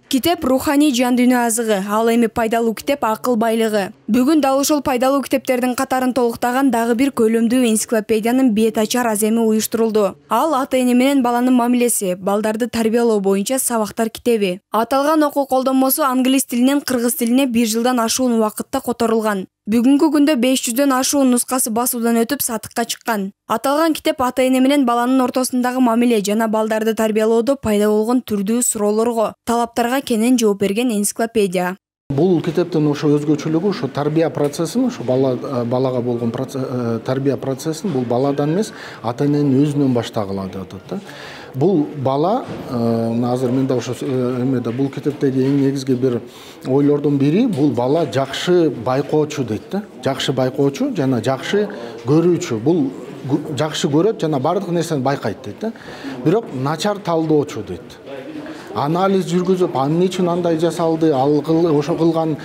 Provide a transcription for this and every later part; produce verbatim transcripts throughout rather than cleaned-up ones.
Китеп руханий жан дүйнө азыгы, ал эми пайдалуу китеп акыл байлыгы. Бүгүн дал ушул пайдалуу китептердин катарын толуктаган дагы бир көлөмдүү энциклопедиянын бет ачар аземи уюштурулду. Ал ата-эне менен баланын мамилеси, балдарды тарбиялоо боюнча сабактар китеби. Аталган окуу колдонмосу англис тилинен кыргыз тилине бир жылдан ашуун убакытта которулган. Бүгүнкү күндө беш жүздөн ашуун нускасы басуудан өтүп сатыкка чыккан. Аталган китеп ата-эне менен баланын ортосундагы мамиле жана балдарды тарбиялоодо пайда болгон түрдүү суроолорго, талаптарга кенен жооп берген энциклопедия. Бул китептин ошо өзгөчөлүгү ошо тарбия процессин, ошо бала балага болгон тарбия процессин бул баладан эмес, ата-эненин өзүнөн баштагыла деп атат да. Бул бала азыр мен да ошо эмеде бул китептеги эң негизги бир ойлордун бири бул бала жакшы байкоочу дейт да. Жакшы байкоочу жана жакшы көрүүчү. Бул жакшы көрөт жана бардык нерсени байкайт дейт да. Бирок начар талдоочу дейт. Анализ жүргүзүп, ал эмне үчүн андай жасалды, ал ошо кылган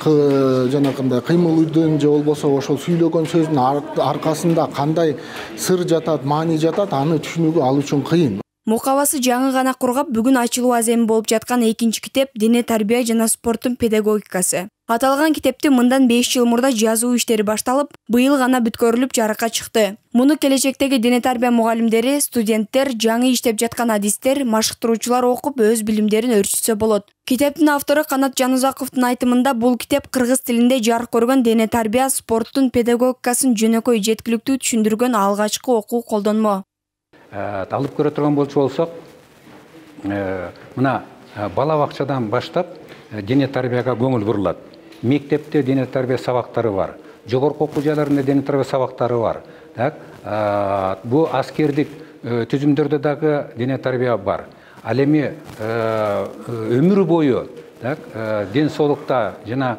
жанакындай кыймылдын же болбосо ошол сүйлөгөн сөздүн аркасында кандай сыр жатат, маани жатат, аны түшүнүүгө ал үчүн кыйын. Мукабасы жаңы гана кургап, бүгүн ачылуу аземи болуп жаткан экинчи китеп Дене тарбия жана спорттун педагогикасы. Аталган китепти мындан беш жыл мурда жазуу иштери башталып, быйыл гана бүткөрүлүп жарыкка чыкты. Муну келечектеги дене тарбия мугалимдери, студенттер, жаңы иштеп жаткан адистер, машыктыруучулар окуп өз билимдерин өрчүтсө болот. Китептин автору Канат Жанузаковдун айтымында бул китеп кыргыз тилинде жарык көргөн дене тарбия, спорттун педагогикасын жөнөкөй жеткиликтүү түшүндүргөн алгачкы окуу колдонмо. Алып көрө турган болсок, мына бала бакчадан баштап дене тарбияга көңүл бурулат. Мектепте дене тарбия сабактары бар. Жогорку окуу жайларында дене тарбия сабактары бар. Так, бу аскердик түзүмдөрдө дагы дене тарбия бар. Ал эми өмүр бою, так, ден соолукта жана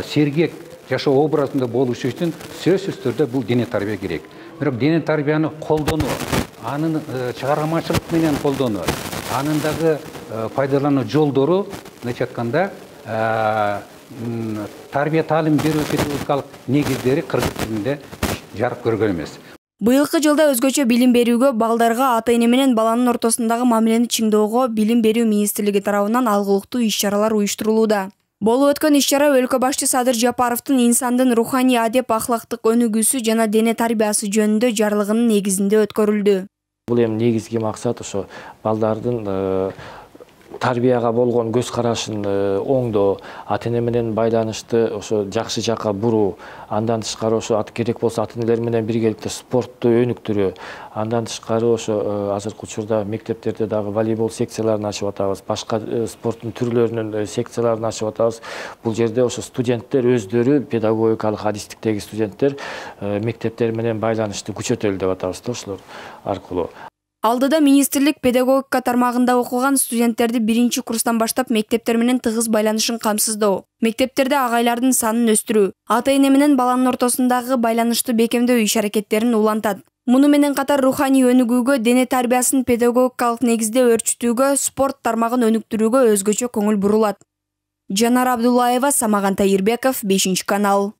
сергек жашоо образында болуш үчүн сөзсүз түрдө бул дене тарбия керек. Бирок дене тарбияны колдонуу, анын чыгармачылык менен колдонуу, анын дагы пайдалануу жолдору, мындайча айтканда, тарбия таалим берүү педагогикалык негиздери кыргыз тилинде жарык көргөн эмес. Быйылкы жылда өзгөчө билим берүүгө, балдарга ата-эне менен баланын ортосундагы мамилени чыңдоого Билим берүү министрлиги тарабынан алгылыктуу иш-чаралар уюштурулууда. Болуп өткөн иш-чара өлкө башчы Садыр Жапаровдун инсандын руханий адеп ахлактык өнүгүүсү жана дене тарбиясы жөнүндө жарлыгынын негизинде өткөрүлдү. Бул эми негизги максат ошо балдардын тарбияга болгон көз карашын оңдоо, ата-эне менен байланышты ошо жакшы жакка буруу, андан тышкары ошо керек болсо ата-энелер менен биргеликте спортту өнүктүрүү, андан тышкары ошо азыркы учурда мектептерде дагы волейбол секцияларын ачып атабыз, башка спорттун түрлөрүнүн секцияларын ачып атабыз. Бул жерде ошо студенттер өздөрү, педагогикалык адистиктеги студенттер мектептер менен байланышты күчөтөлү деп атабыз да ошолор аркылуу. Алдыда министрлик педагогика тармагында окуган студенттерди биринчи курстан баштап мектептер менен тыгыз байланышын камсыздоо, мектептерде агайлардын санын өстүрүү, ата-эне менен баланын ортосундагы байланышты бекемдөө иш-аракеттерин улантат. Муну менен катар руханий өнүгүүгө, дене тарбиясын педагогикалык негизде өрчүтүүгө, спорт тармагын өнүктүрүүгө өзгөчө көңүл бурулат. Жанар Абдуллаева, Самаган Тайырбеков, бешинчи канал.